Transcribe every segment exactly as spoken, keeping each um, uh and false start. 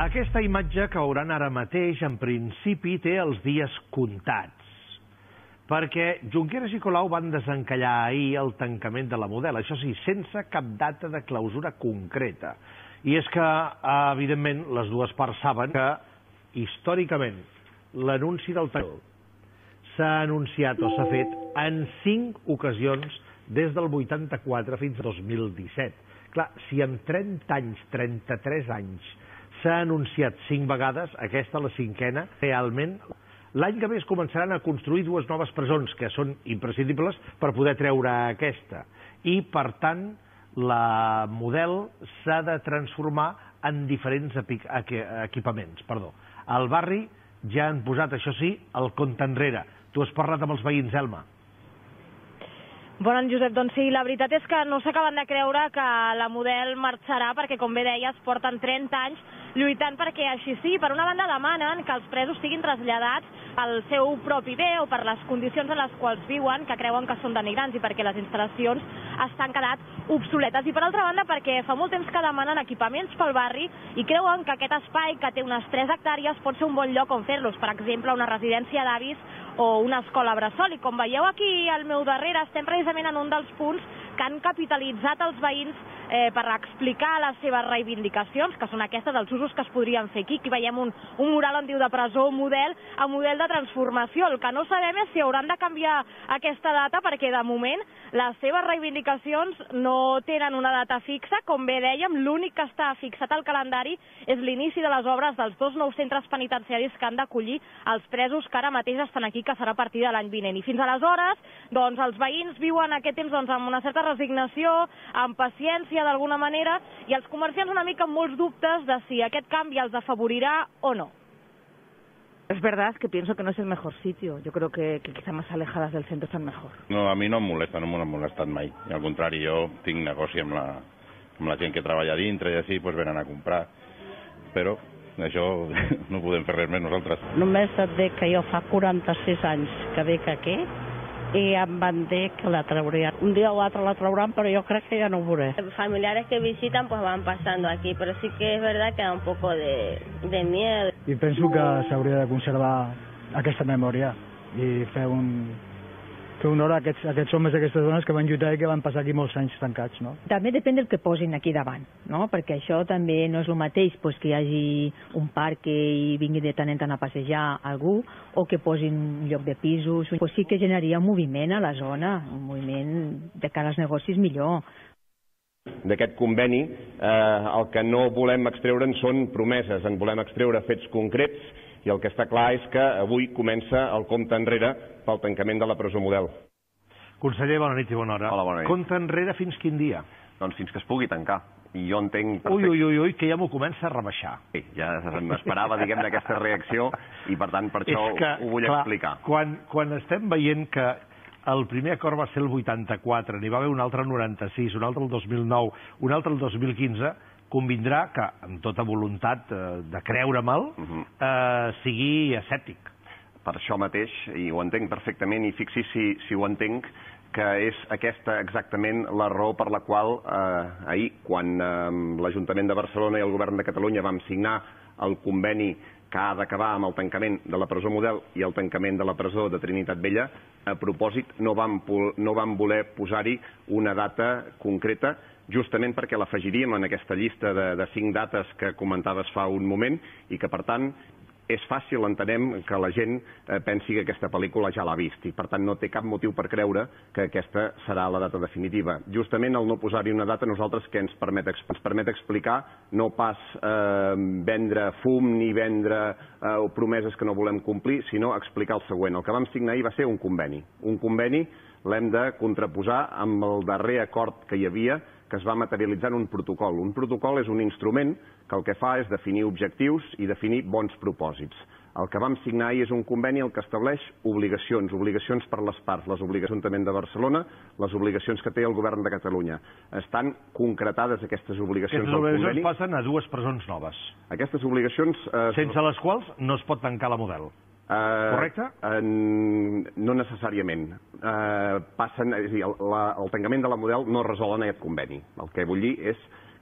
Aquesta imatge que veuran ara mateix, en principi, té els dies comptats, perquè Junqueras i Colau van desencallar ahir el tancament de la Model, això sí, sense cap data de clausura concreta. I és que, evidentment, les dues parts saben que, històricament, l'anunci del tancament s'ha anunciat o s'ha fet en cinc ocasions des del vuitanta-quatre fins al dos mil disset. Clar, si en trenta anys, trenta-tres anys, s'ha anunciat cinc vegades, aquesta, la cinquena, realment, l'any que ve es començaran a construir dues noves presons, que són imprescindibles per poder treure aquesta. I, per tant, la Model s'ha de transformar en diferents equipaments. Perdó. Al barri ja han posat, això sí, el compte enrere. Tu has parlat amb els veïns, Elma? Bon any, Josep. Doncs sí, la veritat és que no s'acaben de creure que la Model marxarà perquè, com bé deies, porten trenta anys lluitant perquè així sí. Per una banda demanen que els presos siguin traslladats al seu propi bé o per les condicions en les quals viuen, que creuen que són denigrants i perquè les instal·lacions estan quedat obsoletes. I per altra banda perquè fa molt temps que demanen equipaments pel barri i creuen que aquest espai, que té unes tres hectàrees, pot ser un bon lloc on fer-los. Per exemple, una residència d'avis o una escola bressol. I com veieu aquí al meu darrere, estem precisament en un dels punts que han capitalitzat els veïns eh, per explicar les seves reivindicacions, que són aquestes, els usos que es podrien fer aquí. Aquí veiem un, un mural on diu de presó Model a model de transformació. El que no sabem és si hauran de canviar aquesta data, perquè de moment les seves reivindicacions no tenen una data fixa. Com bé dèiem, l'únic que està fixat al calendari és l'inici de les obres dels dos nous centres penitenciaris que han d'acollir els presos que ara mateix estan aquí, que serà a partir de l'any vinent. I fins aleshores, doncs, els veïns viuen aquest temps doncs, amb una certa resignació, amb paciència d'alguna manera, i els comerciants una mica amb molts dubtes de si aquest canvi els afavorirà o no. Es verdad que pienso que no es el mejor sitio. Yo creo que, que quizá más alejadas del centro están mejor. No, a mi no em molesta, no m'ha molestat mai. I al contrari, jo tinc negoci amb la, amb la gent que treballa dintre i així, doncs venen a comprar. Però això no podem fer res més nosaltres. Només et dic que jo fa quaranta-sis anys que dic aquí i em van dir que la traurien. Un dia o l'altre la trauran, pero yo creo que ya no ho veuré. Familiares que visitan pues van pasando aquí, pero sí que es verdad que da un poco de, de miedo. I penso que s'hauria de conservar aquesta memòria i fer un, fer honor a aquests, a aquests homes i aquestes dones que van lluitar i que van passar aquí molts anys tancats, no? També depèn del que posin aquí davant, no? Perquè això també no és el mateix pues, que hi hagi un parc i vingui de tant en tant a passejar algú, o que posin un lloc de pisos. Pues sí que generaria un moviment a la zona, un moviment de cara als negocis millor. D'aquest conveni, eh, el que no volem extreure'n són promeses, en volem extreure fets concrets, i el que està clar és que avui comença el compte enrere pel tancament de la presó Model. Conseller, bona nit i bona hora. Hola, bona nit. Compte enrere fins quin dia? Doncs fins que es pugui tancar. I jo entenc... Ui, ui, ui, ui, que ja m'ho comença a rebaixar. Sí, ja m'esperava, diguem, d'aquesta reacció, i per tant per això que, ho vull clar, explicar. Quan, quan estem veient que el primer acord va ser el vuitanta-quatre, n'hi va haver un altre el noranta-sis, un altre el dos mil nou, un altre el dos mil quinze, convindrà que, amb tota voluntat eh, de creure-me'l, uh -huh. eh, sigui escèptic. Per això mateix, i ho entenc perfectament, i fixi si, si ho entenc, que és aquesta exactament la raó per la qual eh, ahir, quan eh, l'Ajuntament de Barcelona i el Govern de Catalunya vam signar el conveni que ha d'acabar amb el tancament de la presó Model i el tancament de la presó de Trinitat Vella, a propòsit no vam, no vam voler posar-hi una data concreta, justament perquè l'afegiríem en aquesta llista de, de cinc dates que comentaves fa un moment, i que per tant és fàcil, entenem, que la gent eh, pensi que aquesta pel·lícula ja l'ha vist, i per tant no té cap motiu per creure que aquesta serà la data definitiva. Justament el no posar-hi una data, nosaltres què ens permet, ens permet explicar, no pas eh, vendre fum ni vendre eh, promeses que no volem complir, sinó explicar el següent. El que vam signar ahir va ser un conveni. Un conveni l'hem de contraposar amb el darrer acord que hi havia, que es va materialitzar en un protocol. Un protocol és un instrument que el que fa és definir objectius i definir bons propòsits. El que vam signar ahir és un conveni el que estableix obligacions, obligacions per les parts, les obligacions també de Barcelona, les obligacions que té el Govern de Catalunya. Estan concretades aquestes obligacions del conveni. Aquestes obligacions passen a dues presons noves. Aquestes obligacions... Eh, sense les quals no es pot tancar la Model. Uh, Correcte? Uh, no necessàriament. Uh, passen, és a dir, el, la, el tancament de la Model no resol en aquest conveni. El que vull dir és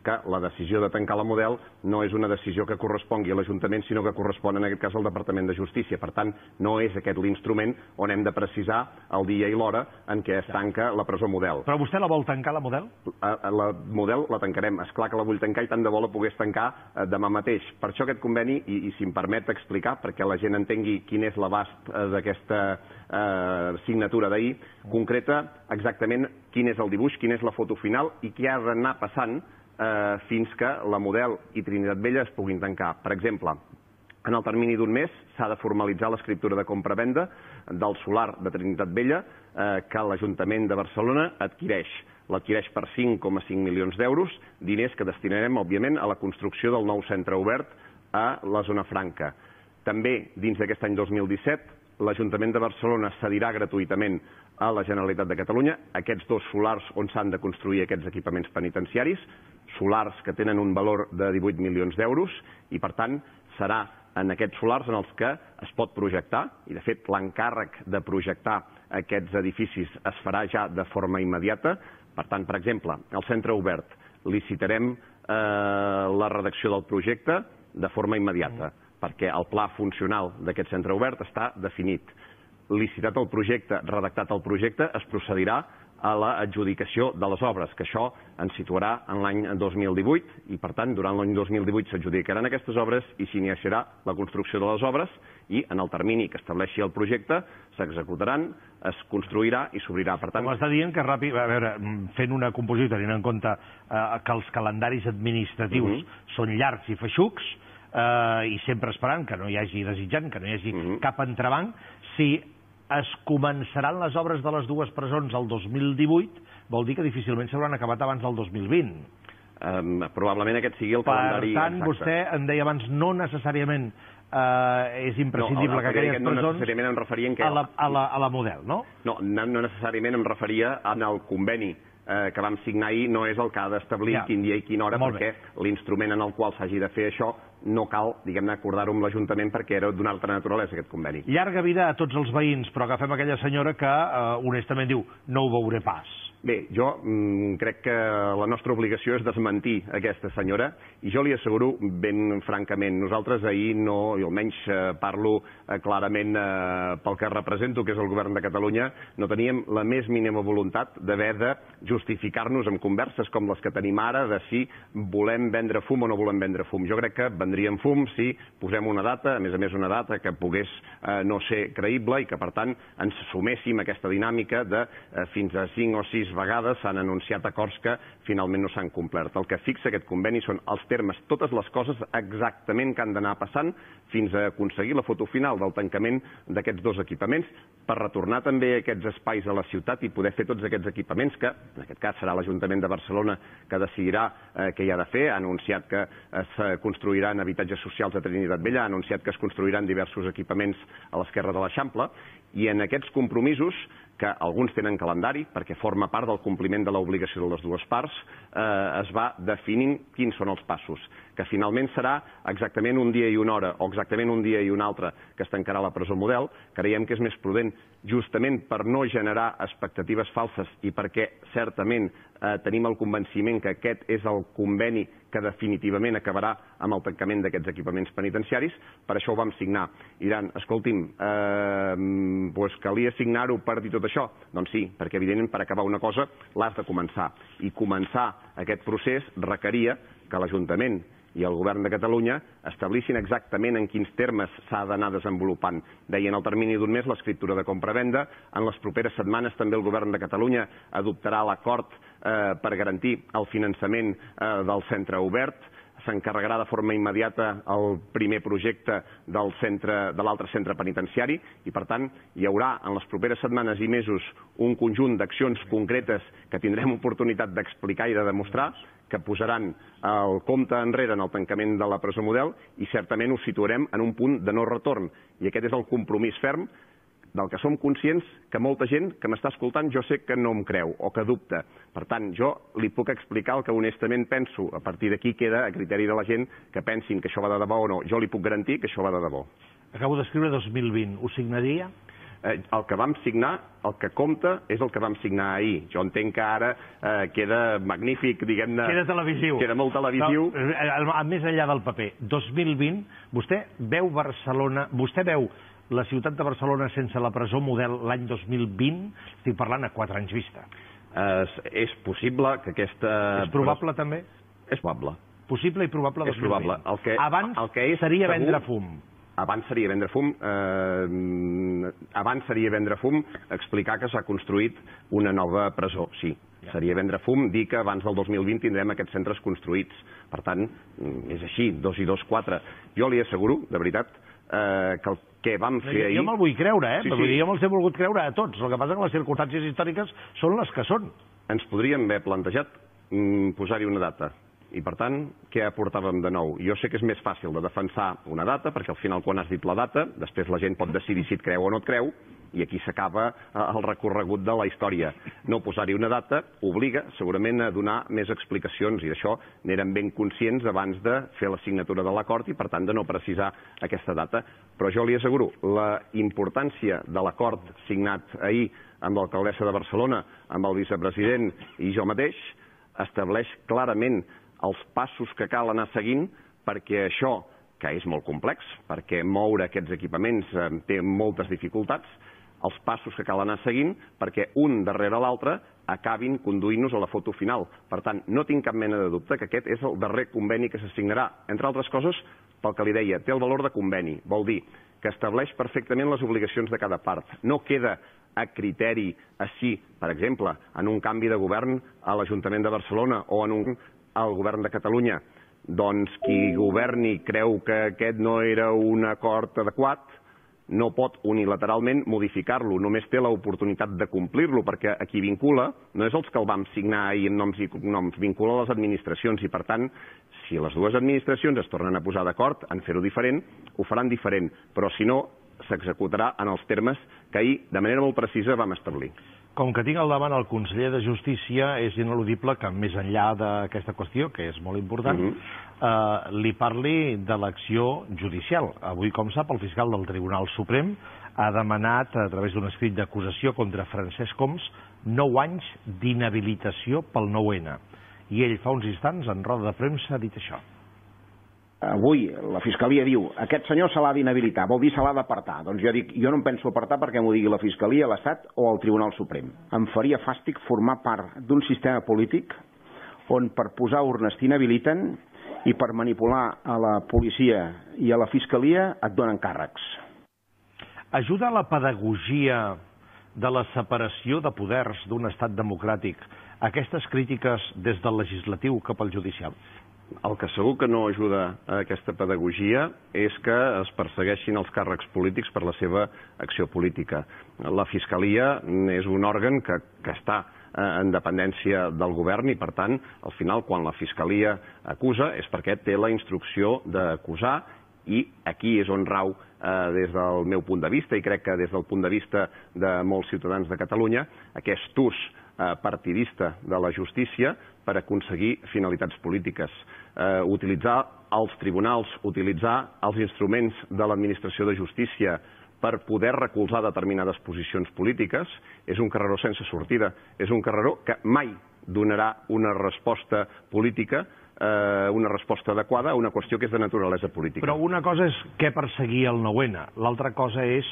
que la decisió de tancar la Model no és una decisió que correspongui a l'Ajuntament, sinó que correspon en aquest cas al Departament de Justícia. Per tant, no és aquest l'instrument on hem de precisar el dia i l'hora en què es tanca la presó Model. Però vostè la vol tancar, la Model? La Model la tancarem. És clar que la vull tancar i tant de bo la pogués tancar demà mateix. Per això aquest conveni, i, i si em permet explicar, perquè la gent entengui quin és l'abast d'aquesta eh, signatura d'ahir, concreta exactament quin és el dibuix, quina és la foto final i què ha d'anar passant eh, fins que la Model i Trinitat Vella es puguin tancar. Per exemple, en el termini d'un mes s'ha de formalitzar l'escriptura de compra-venda del solar de Trinitat Vella eh, que l'Ajuntament de Barcelona adquireix. L'adquireix per cinc coma cinc milions d'euros, diners que destinarem, òbviament, a la construcció del nou centre obert a la zona franca. També, dins d'aquest any dos mil disset, l'Ajuntament de Barcelona cedirà gratuïtament a la Generalitat de Catalunya aquests dos solars on s'han de construir aquests equipaments penitenciaris, solars que tenen un valor de divuit milions d'euros i, per tant, serà en aquests solars en els que es pot projectar, i de fet l'encàrrec de projectar aquests edificis es farà ja de forma immediata. Per tant, per exemple, el centre obert, licitarem eh, la redacció del projecte de forma immediata, perquè el pla funcional d'aquest centre obert està definit. Licitat el projecte, redactat el projecte, es procedirà a l'adjudicació de les obres, que això ens situarà en l'any dos mil divuit i, per tant, durant l'any dos mil divuit s'adjudicaran aquestes obres i s'iniciarà la construcció de les obres i, en el termini que estableixi el projecte, s'executaran, es construirà i s'obrirà. Per tant... M'està dient que ràpid, a veure, fent una composició, tenint en compte eh, que els calendaris administratius uh-huh. són llargs i feixucs, eh, i sempre esperant que no hi hagi, desitjant que no hi hagi uh-huh. cap entrebanc, si es començaran les obres de les dues presons el dos mil divuit, vol dir que difícilment s'hauran acabat abans del dos mil vint. Um, probablement aquest sigui el calendari exacte. Per tant, exacte. Vostè em deia abans, no necessàriament eh, és imprescindible no, que aquelles no presons necessàriament em referia en què... a, la, a, la, a la Model, no? No, no necessàriament em referia en el conveni eh, que vam signar ahir, no és el que ha d'establir ja. quin dia i quina hora, molt perquè l'instrument en el qual s'hagi de fer això no cal, diguem-ne, acordar-ho amb l'Ajuntament perquè era d'una altra naturalesa, aquest conveni. Llarga vida a tots els veïns, però agafem aquella senyora que eh, honestament diu no ho veuré pas. Bé, jo mm, crec que la nostra obligació és desmentir aquesta senyora i jo li asseguro ben francament, nosaltres ahir no, i almenys eh, parlo eh, clarament eh, pel que represento, que és el govern de Catalunya, no teníem la més mínima voluntat d'haver de justificar-nos amb converses com les que tenim ara de si volem vendre fum o no volem vendre fum. Jo crec que vendríem fum si posem una data, a més a més una data que pogués eh, no ser creïble i que per tant ens suméssim a aquesta dinàmica de eh, fins a cinc o sis vegades s'han anunciat acords que finalment no s'han complert. El que fixa aquest conveni són els termes, totes les coses exactament que han d'anar passant fins a aconseguir la foto final del tancament d'aquests dos equipaments per retornar també aquests espais a la ciutat i poder fer tots aquests equipaments que, en aquest cas serà l'Ajuntament de Barcelona que decidirà eh, què hi ha de fer, ha anunciat que es construiran habitatges socials a Trinitat Vella, ha anunciat que es construiran diversos equipaments a l'esquerra de l'Eixample i en aquests compromisos que alguns tenen calendari, perquè forma part del compliment de l'obligació de les dues parts, eh, es va definint quins són els passos, que finalment serà exactament un dia i una hora, o exactament un dia i un altre que es tancarà la presó Model. Creiem que és més prudent, justament per no generar expectatives falses i perquè certament eh, tenim el convenciment que aquest és el conveni que definitivament acabarà amb el tancament d'aquests equipaments penitenciaris, per això ho vam signar. I diran, escolti'm, eh, doncs calia signar-ho per dir tot això? Doncs sí, perquè evidentment per acabar una cosa l'has de començar. I començar aquest procés requeria que l'Ajuntament i el govern de Catalunya establissin exactament en quins termes s'ha d'anar desenvolupant. Deia, en el termini d'un mes l'escriptura de compra-venda, en les properes setmanes també el govern de Catalunya adoptarà l'acord eh, per garantir el finançament eh, del centre obert, s'encarregarà de forma immediata el primer projecte del centre, de l'altre centre penitenciari i, per tant, hi haurà en les properes setmanes i mesos un conjunt d'accions concretes que tindrem oportunitat d'explicar i de demostrar que posaran el compte enrere en el tancament de la presó Model i certament ho situarem en un punt de no retorn. I aquest és el compromís ferm del que som conscients que molta gent que m'està escoltant jo sé que no em creu o que dubta. Per tant, jo li puc explicar el que honestament penso. A partir d'aquí queda a criteri de la gent que pensin que això va de debò o no. Jo li puc garantir que això va de debò. Acabo d'escriure dos mil vint. Ho signaria? Eh, el que vam signar, el que compta, és el que vam signar ahir. Jo entenc que ara eh, queda magnífic, diguem-ne... Queda televisiu. Queda molt televisiu. No, més enllà del paper, dos mil vint, vostè veu Barcelona, vostè veu la ciutat de Barcelona sense la presó model l'any dos mil vint? Estic parlant a quatre anys vista. Eh, és possible que aquesta... És probable també? És probable. Possible i probable dos mil vint. És probable. El que, abans el que és seria segur, vendre fum. Abans seria vendre fum. Eh, abans seria vendre fum explicar que s'ha construït una nova presó, sí. Ja. Seria vendre fum dir que abans del dos mil vint tindrem aquests centres construïts. Per tant, és així, dos i dos, quatre. Jo li asseguro, de veritat, eh, que el que vam fer ahir... Jo me'l vull creure, eh? Sí, sí. sí. Jo me'ls he volgut creure a tots. El que passa que les circumstàncies històriques són les que són. Ens podríem haver plantejat mm, posar-hi una data. I, per tant, què aportàvem de nou? Jo sé que és més fàcil de defensar una data, perquè al final, quan has dit la data, després la gent pot decidir si et creu o no et creu, i aquí s'acaba el recorregut de la història. No posar-hi una data obliga, segurament, a donar més explicacions, i d'això n'érem ben conscients abans de fer la signatura de l'acord i, per tant, de no precisar aquesta data. Però jo li asseguro, la importància de l'acord signat ahir amb l'alcaldessa de Barcelona, amb el vicepresident i jo mateix, estableix clarament els passos que cal anar seguint perquè això, que és molt complex, perquè moure aquests equipaments eh, té moltes dificultats, els passos que cal anar seguint perquè un darrere l'altre acabin conduint-nos a la foto final. Per tant, no tinc cap mena de dubte que aquest és el darrer conveni que s'assignarà. Entre altres coses, pel que li deia, té el valor de conveni. Vol dir que estableix perfectament les obligacions de cada part. No queda a criteri així, per exemple, en un canvi de govern a l'Ajuntament de Barcelona o en un al govern de Catalunya. Doncs qui governi creu que aquest no era un acord adequat, no pot unilateralment modificar-lo, només té l'oportunitat de complir-lo, perquè a qui vincula no és els que el vam signar ahir en noms i cognoms, vincula les administracions, i per tant, si les dues administracions es tornen a posar d'acord en fer-ho diferent, ho faran diferent, però si no, s'executarà en els termes que ahir, de manera molt precisa, vam establir. Com que tinc al davant el conseller de Justícia, és ineludible que, més enllà d'aquesta qüestió, que és molt important, uh -huh. eh, li parli de l'acció judicial. Avui, com sap, el fiscal del Tribunal Suprem ha demanat, a través d'un escrit d'acusació contra Francesc Homs, nou anys d'inhabilitació pel nou ene. I ell, fa uns instants, en roda de premsa, ha dit això. Avui la Fiscalia diu aquest senyor se l'ha d'inhabilitar, vol dir se l'ha d'apartar. Doncs jo dic, jo no em penso apartar perquè m'ho digui la Fiscalia, l'Estat o el Tribunal Suprem. Em faria fàstic formar part d'un sistema polític on per posar urnes t'inhabiliten i per manipular a la policia i a la Fiscalia et donen càrrecs. Ajuda a la pedagogia de la separació de poders d'un estat democràtic aquestes crítiques des del legislatiu cap al judicial? El que segur que no ajuda a aquesta pedagogia és que es persegueixin els càrrecs polítics per la seva acció política. La Fiscalia és un òrgan que, que està en dependència del govern i, per tant, al final, quan la Fiscalia acusa, és perquè té la instrucció d'acusar i aquí és on rau, eh, des del meu punt de vista, i crec que des del punt de vista de molts ciutadans de Catalunya, aquest ús eh, partidista de la justícia per aconseguir finalitats polítiques. Eh, utilitzar els tribunals, utilitzar els instruments de l'administració de justícia per poder recolzar determinades posicions polítiques és un carreró sense sortida. És un carreró que mai donarà una resposta política, eh, una resposta adequada a una qüestió que és de naturalesa política. Però una cosa és què perseguir el nou ene, l'altra cosa és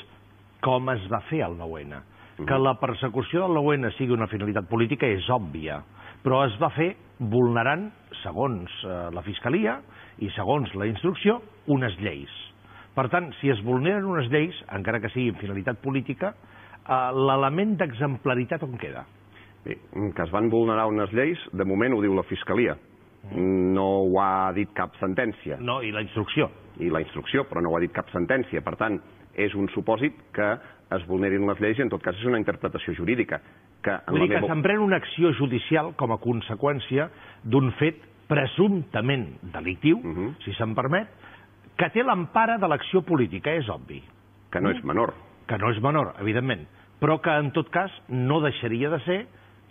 com es va fer el nou ene. Que la persecució del nou ene sigui una finalitat política és òbvia, però es va fer vulnerant, segons eh, la Fiscalia i segons la instrucció, unes lleis. Per tant, si es vulneren unes lleis, encara que sigui finalitat política, eh, l'element d'exemplaritat on queda? Bé, que es van vulnerar unes lleis, de moment ho diu la Fiscalia. No ho ha dit cap sentència. No, i la instrucció. I la instrucció, però no ho ha dit cap sentència. Per tant, és un supòsit que es vulnerin les lleis i en tot cas és una interpretació jurídica. Que en Vull dir la que meva... s'emprèn una acció judicial com a conseqüència d'un fet presumptament delictiu, uh -huh. si se'm permet, que té l'empara de l'acció política, és obvi. Que no és menor. Que no és menor, evidentment, però que en tot cas no deixaria de ser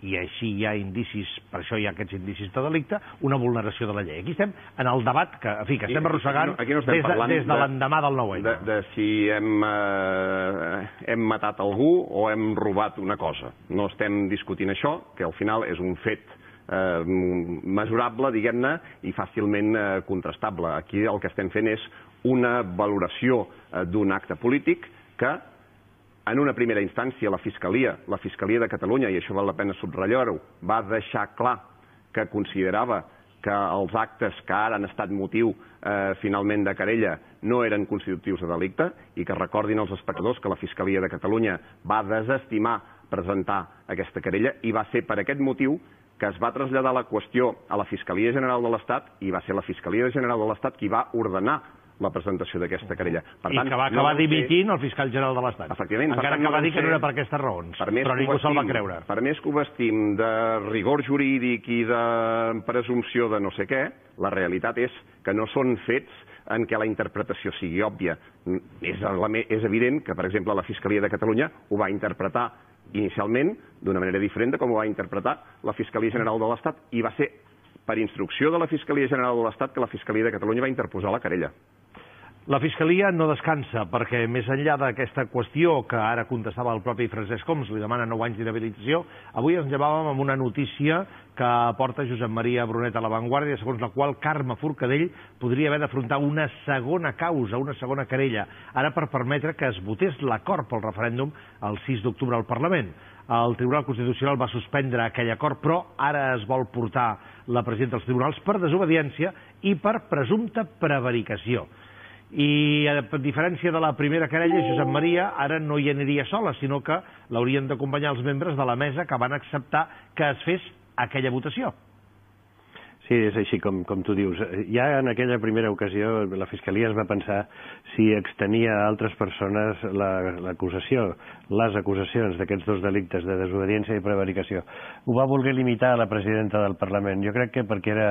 i així hi ha indicis, per això hi ha aquests indicis de delicte, una vulneració de la llei. Aquí estem en el debat que, en fi, que estem arrossegant aquí no, aquí no des, de, des de l'endemà del nou N. De, de si hem, eh, hem matat algú o hem robat una cosa. No estem discutint això, que al final és un fet eh, mesurable, diguem-ne, i fàcilment eh, contrastable. Aquí el que estem fent és una valoració eh, d'un acte polític que en una primera instància la Fiscalia, la Fiscalia de Catalunya, i això val la pena subratllar-ho, va deixar clar que considerava que els actes que ara han estat motiu eh, finalment de querella no eren constitutius de delicte i que recordin els espectadors que la Fiscalia de Catalunya va desestimar presentar aquesta querella i va ser per aquest motiu que es va traslladar la qüestió a la Fiscalia General de l'Estat i va ser la Fiscalia General de l'Estat qui va ordenar la presentació d'aquesta querella. Per tant, I que va acabar no dimitint el fiscal general de l'Estat. Efectivament. Encara que va dir que no era per aquestes raons, però ningú se'l va creure. Per més que ho vestim de rigor jurídic i de presumpció de no sé què, la realitat és que no són fets en què la interpretació sigui òbvia. És, és evident que, per exemple, la Fiscalia de Catalunya ho va interpretar inicialment d'una manera diferent de com ho va interpretar la Fiscalia General de l'Estat i va ser per instrucció de la Fiscalia General de l'Estat que la Fiscalia de Catalunya va interposar la querella. La Fiscalia no descansa, perquè més enllà d'aquesta qüestió que ara contestava el propi Francesc Homs, li demana nou anys d'inhabilitació, avui ens llevàvem amb una notícia que aporta Josep Maria Brunet a La Vanguardia, segons la qual Carme Forcadell podria haver d'afrontar una segona causa, una segona querella, ara per permetre que es votés l'acord pel referèndum el sis d'octubre al Parlament. El Tribunal Constitucional va suspendre aquell acord, però ara es vol portar la presidenta dels tribunals per desobediència i per presumpta prevaricació. I a diferència de la primera querella, Josep Maria ara no hi aniria sola, sinó que l'haurien d'acompanyar els membres de la mesa que van acceptar que es fes aquella votació. Sí, és així com, com tu dius. Ja en aquella primera ocasió la Fiscalia es va pensar si extenia a altres persones l'acusació, les acusacions d'aquests dos delictes de desobediència i prevaricació. Ho va voler limitar a la presidenta del Parlament. Jo crec que perquè era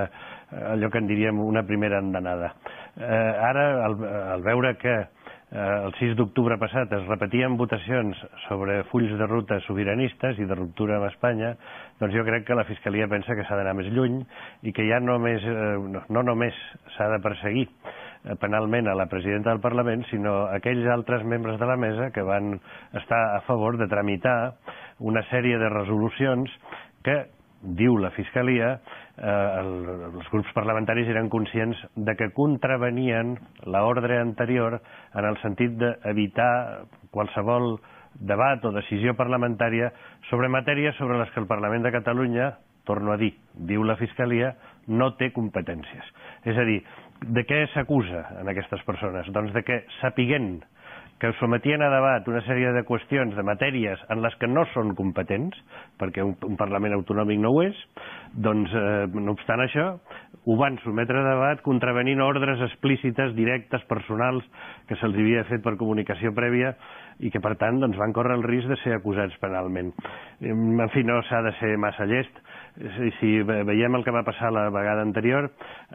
allò que en diríem una primera andanada. Eh, ara, al, al veure que el sis d'octubre passat es repetien votacions sobre fulls de ruta sobiranistes i de ruptura amb Espanya, doncs jo crec que la Fiscalia pensa que s'ha d'anar més lluny i que ja només, no, no només s'ha de perseguir penalment a la presidenta del Parlament, sinó aquells altres membres de la mesa que van estar a favor de tramitar una sèrie de resolucions que, diu la Fiscalia, eh, el, els grups parlamentaris eren conscients de que contravenien l'ordre anterior en el sentit d'evitar qualsevol debat o decisió parlamentària sobre matèries sobre les que el Parlament de Catalunya, torno a dir, diu la Fiscalia, no té competències. És a dir, de què s'acusa en aquestes persones? Doncs de que, sapiguent que sometien a debat una sèrie de qüestions, de matèries en les que no són competents, perquè un, un Parlament autonòmic no ho és, doncs, eh, no obstant això, ho van sometre a debat contravenint ordres explícites, directes, personals, que se'ls havia fet per comunicació prèvia i que, per tant, doncs, van córrer el risc de ser acusats penalment. En fi, no s'ha de ser massa llest. Si veiem el que va passar la vegada anterior,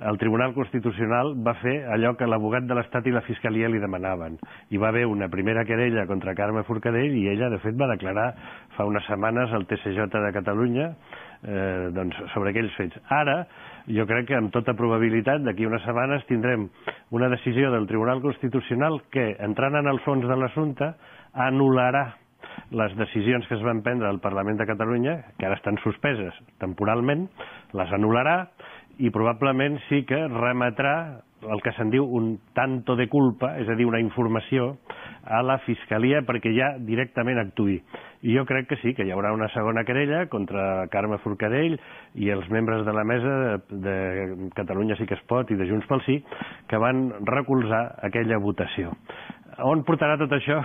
el Tribunal Constitucional va fer allò que l'abogat de l'Estat i la Fiscalia li demanaven. Hi va haver una primera querella contra Carme Forcadell i ella, de fet, va declarar fa unes setmanes al T C J de Catalunya eh, doncs, sobre aquells fets. Ara, jo crec que amb tota probabilitat d'aquí unes setmanes tindrem una decisió del Tribunal Constitucional que, entrant en el fons de l'assumpte, anul·larà les decisions que es van prendre al Parlament de Catalunya, que ara estan suspeses temporalment, les anul·larà i probablement sí que remetrà el que se'n diu un tanto de culpa, és a dir, una informació a la Fiscalia perquè ja directament actuï. I jo crec que sí, que hi haurà una segona querella contra Carme Forcadell i els membres de la mesa de Catalunya Sí que es pot i de Junts pel Sí que van recolzar aquella votació. On portarà tot això?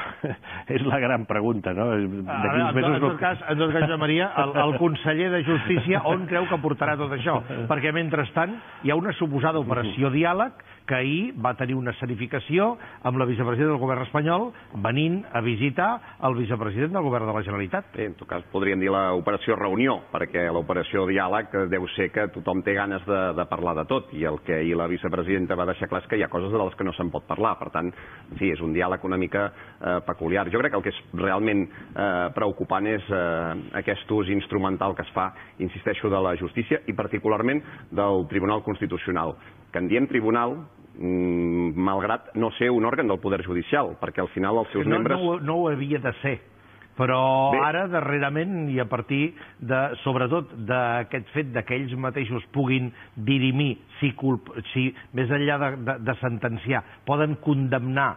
És la gran pregunta, no? En tot cas, en tot cas, Josep Maria, el, el conseller de Justícia, on creu que portarà tot això? Perquè, mentrestant, hi ha una suposada operació diàleg que ahir va tenir una escenificació amb la vicepresidenta del govern espanyol venint a visitar el vicepresident del govern de la Generalitat. Bé, en tot cas, podríem dir l'operació reunió, perquè l'operació diàleg deu ser que tothom té ganes de, de parlar de tot, i el que ahir la vicepresidenta va deixar clar és que hi ha coses de les que no se'n pot parlar. Per tant, en fi, és un diàleg una mica eh, peculiar. Jo crec que el que és realment eh, preocupant és eh, aquest ús instrumental que es fa, insisteixo, de la justícia i particularment del Tribunal Constitucional, que en diem tribunal malgrat no ser un òrgan del Poder Judicial, perquè al final els seus no, membres... No, no ho havia de ser, però Bé. ara, darrerament, i a partir, de, sobretot, d'aquest fet que ells mateixos puguin dirimir, si, culp, si més enllà de, de, de sentenciar, poden condemnar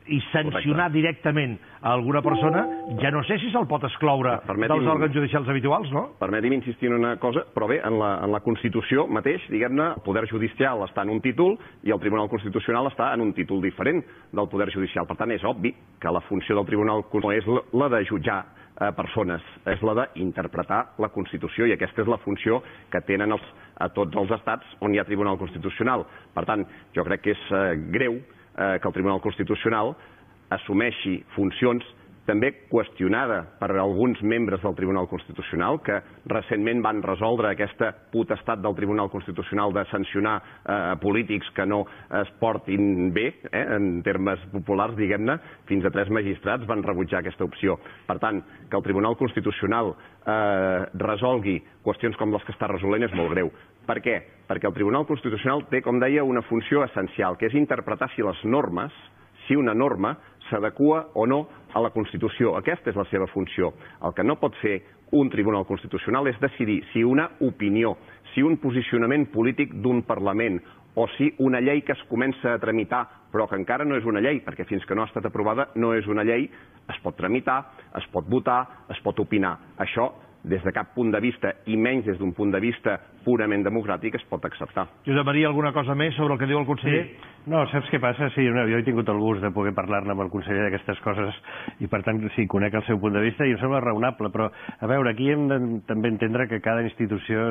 i sancionar Correcte. directament a alguna persona, ja no sé si se'l pot excloure dels òrgans judicials habituals, no? Permeti'm insistir en una cosa, però bé, en la, en la Constitució mateix, diguem-ne, el Poder Judicial està en un títol i el Tribunal Constitucional està en un títol diferent del Poder Judicial. Per tant, és obvi que la funció del Tribunal Constitucional és la de jutjar eh, persones, és la d'interpretar la Constitució, i aquesta és la funció que tenen els, a tots els estats on hi ha Tribunal Constitucional. Per tant, jo crec que és eh, greu que el Tribunal Constitucional assumeixi funcions també qüestionada per alguns membres del Tribunal Constitucional que recentment van resoldre aquesta potestat del Tribunal Constitucional de sancionar eh, polítics que no es portin bé, eh, en termes populars, diguem-ne. Fins a tres magistrats van rebutjar aquesta opció. Per tant, que el Tribunal Constitucional eh, resolgui qüestions com les que està resolent és molt greu. Per què? Perquè el Tribunal Constitucional té, com deia, una funció essencial, que és interpretar si les normes, si una norma s'adequa o no a la Constitució. Aquesta és la seva funció. El que no pot fer un Tribunal Constitucional és decidir si una opinió, si un posicionament polític d'un Parlament o si una llei que es comença a tramitar però que encara no és una llei, perquè fins que no ha estat aprovada no és una llei, es pot tramitar, es pot votar, es pot opinar. Això, des de cap punt de vista, i menys des d'un punt de vista purament democràtic, es pot acceptar. Josep Maria, alguna cosa més sobre el que diu el conseller? Sí. No, saps què passa? Sí, no, jo he tingut el gust de poder parlar-ne amb el conseller d'aquestes coses i, per tant, sí, conec el seu punt de vista i em sembla raonable, però, a veure, aquí hem de també entendre que cada institució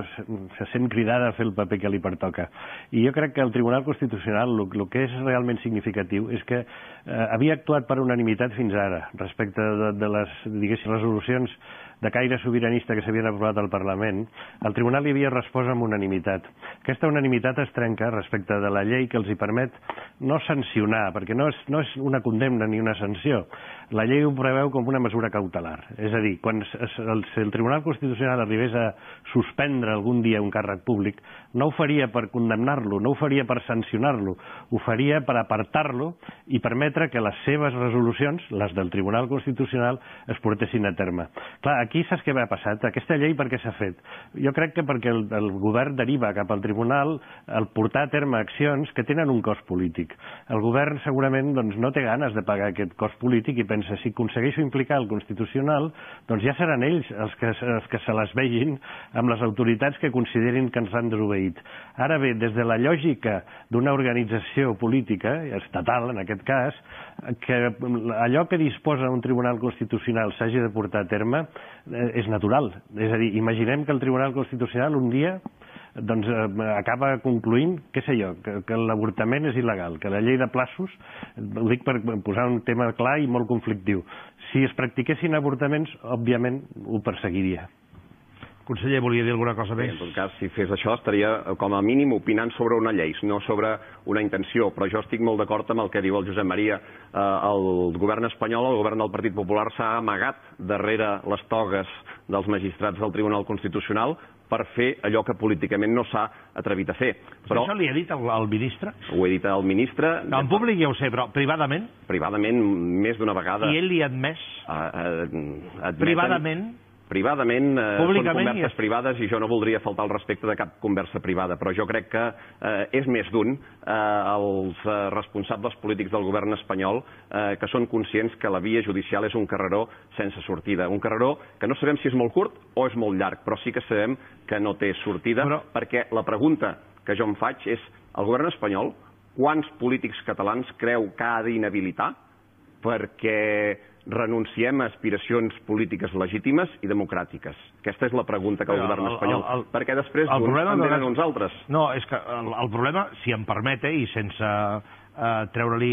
se sent cridada a fer el paper que li pertoca. I jo crec que el Tribunal Constitucional, el, el que és realment significatiu és que eh, havia actuat per unanimitat fins ara, respecte de, de les, diguéssim, resolucions de caire sobiranista que s'havien aprovat al Parlament. El Tribunal hi havia respost amb unanimitat. Aquesta unanimitat es trenca respecte de la llei que els hi permet no sancionar, perquè no és, no és una condemna ni una sanció. La llei ho preveu com una mesura cautelar. És a dir, quan el, el Tribunal Constitucional arribés a suspendre algun dia un càrrec públic, no ho faria per condemnar-lo, no ho faria per sancionar-lo, ho faria per apartar-lo i permetre que les seves resolucions, les del Tribunal Constitucional, es portessin a terme. Clar, aquí saps què ha passat? Aquesta llei per què s'ha fet? Jo crec que perquè el, el govern deriva cap al Tribunal el portar a terme accions que tenen un cost polític. El govern segurament doncs, no té ganes de pagar aquest cost polític i pensa, si aconsegueixo implicar el Constitucional, doncs ja seran ells els que, els que se les vegin amb les autoritats que considerin que ens han desobeït. Ara bé, des de la lògica d'una organització política, estatal en aquest cas, que allò que disposa un Tribunal Constitucional s'hagi de portar a terme eh, és natural. És a dir, imaginem que el Tribunal Constitucional un dia doncs eh, acaba concluint, què sé jo, que, que l'avortament és il·legal, que la llei de plaços, ho dic per posar un tema clar i molt conflictiu, si es practiquessin avortaments, òbviament ho perseguiria. Conseller, volia dir alguna cosa més? Sí, en tot cas, si fes això, estaria com a mínim opinant sobre una llei, no sobre una intenció, però jo estic molt d'acord amb el que diu el Josep Maria. Eh, el govern espanyol, el govern del Partit Popular, s'ha amagat darrere les togues dels magistrats del Tribunal Constitucional per fer allò que políticament no s'ha atrevit a fer. Però això li ha dit el, el ministre? Ho he dit al ministre. No, en públic ja ho sé, però privadament? Privadament, més d'una vegada. I ell li ha admès? Uh, uh, admeten, privadament? Privadament, eh, són converses és... privades i jo no voldria faltar al respecte de cap conversa privada, però jo crec que eh, és més d'un eh, els eh, responsables polítics del govern espanyol eh, que són conscients que la via judicial és un carreró sense sortida, un carreró que no sabem si és molt curt o és molt llarg, però sí que sabem que no té sortida, però... perquè la pregunta que jo em faig és, el govern espanyol, quants polítics catalans creu que ha d'inhabilitar perquè renunciem a aspiracions polítiques legítimes i democràtiques? Aquesta és la pregunta que el govern espanyol... El, el, el, perquè després uns en venen uns altres. No, és que el, el problema, si em permete, i sense eh, treure-li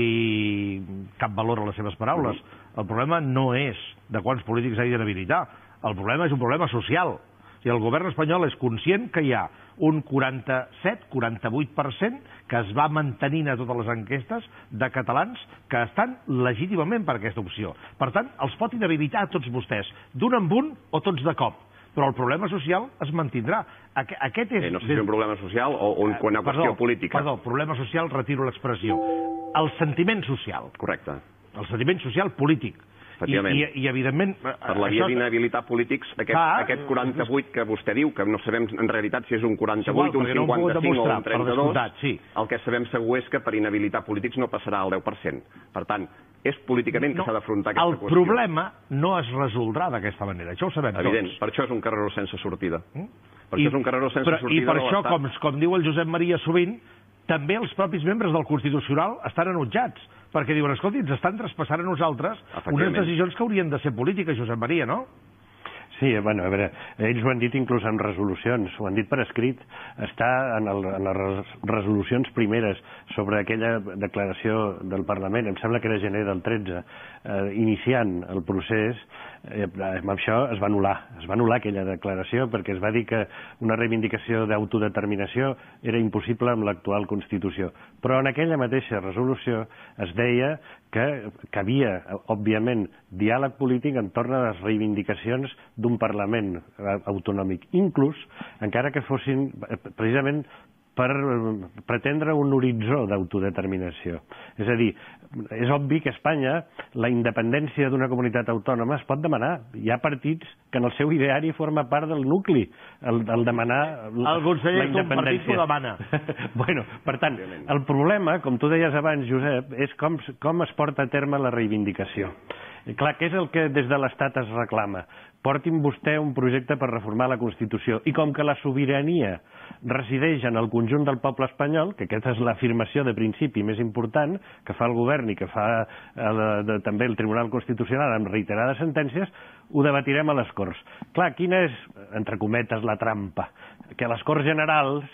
cap valor a les seves paraules, mm-hmm. el problema no és de quants polítics hagi d'inhabilitar. El problema és un problema social. I el govern espanyol és conscient que hi ha un quaranta-set quaranta-vuit per cent que es va mantenint a totes les enquestes de catalans que estan legítimament per aquesta opció. Per tant, els pot inhabilitar a tots vostès, d'un en un o tots de cop. Però el problema social es mantindrà. Aquest és... Eh, no sé si és un problema social o una qüestió perdó, política. Perdó, problema social, retiro l'expressió. El sentiment social. Correcte. El sentiment social polític. I, i, i evidentment... Per la via d'inhabilitar polítics, aquest, Clar, aquest quaranta-vuit que vostè diu, que no sabem en realitat si és un quaranta-vuit, igual, un cinquanta-cinc o un trenta-dos, sí. El que sabem segur és que per inhabilitar polítics no passarà al deu per cent. Per tant, és políticament que no, s'ha d'afrontar aquesta el qüestió. El problema no es resoldrà d'aquesta manera, això ho sabem Evident, tots. per això és un carreró sense sortida. Mm? Per I, això és un carreró sense però, sortida. I per això, com, com diu el Josep Maria sovint, també els propis membres del Constitucional estan enutjats, perquè diuen, escolti, ens estan traspassant a nosaltres unes decisions que haurien de ser polítiques, Josep Maria, no? Sí, bueno, a veure, ells ho han dit inclús en resolucions, ho han dit per escrit, està en, el, en les resolucions primeres sobre aquella declaració del Parlament, em sembla que era gener del tretze, eh, iniciant el procés, eh, amb això es va anul·lar, es va anul·lar aquella declaració perquè es va dir que una reivindicació d'autodeterminació era impossible amb l'actual Constitució. Però en aquella mateixa resolució es deia que cabia, òbviament, diàleg polític entorn a les reivindicacions d'un Parlament autonòmic, inclús encara que fossin precisament per pretendre un horitzó d'autodeterminació. És a dir, és obvi que a Espanya la independència d'una comunitat autònoma es pot demanar. Hi ha partits que en el seu ideari forma part del nucli, el, el demanar el conseller la independència. El partit ho demana. Bueno, per tant, el problema, com tu deies abans, Josep, és com, com es porta a terme la reivindicació. Clar, què és el que des de l'Estat es reclama? Portin vostè un projecte per reformar la Constitució. I com que la sobirania resideix en el conjunt del poble espanyol, que aquesta és l'afirmació de principi més important que fa el govern i que fa el, de, també el Tribunal Constitucional amb reiterades sentències, ho debatirem a les Corts. Clar, quina és, entre cometes, la trampa? Que a les Corts Generals,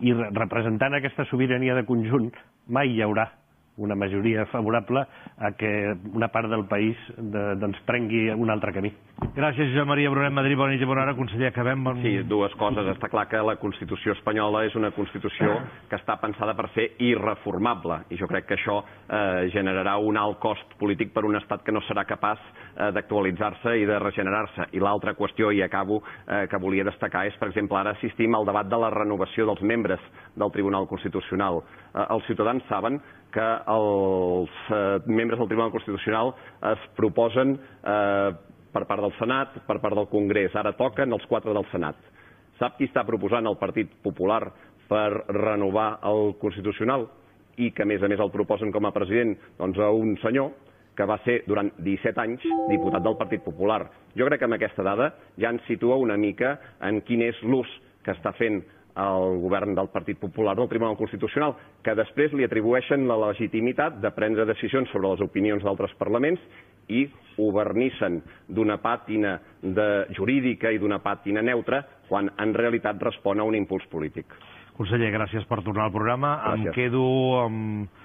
i representant aquesta sobirania de conjunt, mai hi haurà una majoria favorable a que una part del país de, doncs prengui un altre camí. Gràcies, Josep Maria Brunet Madrid. Bona nit i bona hora, conseller. Acabem amb... Sí, dues coses. Està clar que la Constitució espanyola és una Constitució que està pensada per ser irreformable, i jo crec que això eh, generarà un alt cost polític per un estat que no serà capaç eh, d'actualitzar-se i de regenerar-se. I l'altra qüestió, i acabo, eh, que volia destacar és, per exemple, ara assistim al debat de la renovació dels membres del Tribunal Constitucional. Eh, els ciutadans saben que els eh, membres del Tribunal Constitucional es proposen eh, per part del Senat, per part del Congrés. Ara toquen els quatre del Senat. Sap qui està proposant el Partit Popular per renovar el Constitucional i que, a més a més, el proposen com a president? Doncs a un senyor que va ser durant disset anys diputat del Partit Popular. Jo crec que amb aquesta dada ja ens situa una mica en quin és l'ús que està fent el govern del Partit Popular del Tribunal Constitucional, que després li atribueixen la legitimitat de prendre decisions sobre les opinions d'altres parlaments i ho vernissen d'una pàtina de jurídica i d'una pàtina neutra, quan en realitat respon a un impuls polític. Conseller, gràcies per tornar al programa. Gràcies. Em quedo amb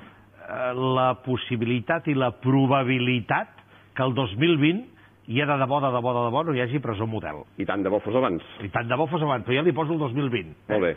la possibilitat i la probabilitat que el dos mil vint i ja de debò, de debò, de debò no hi hagi presó model. I tant de bo fos abans. I tant de bo fos abans, però ja li poso el dos mil vint. Molt bé.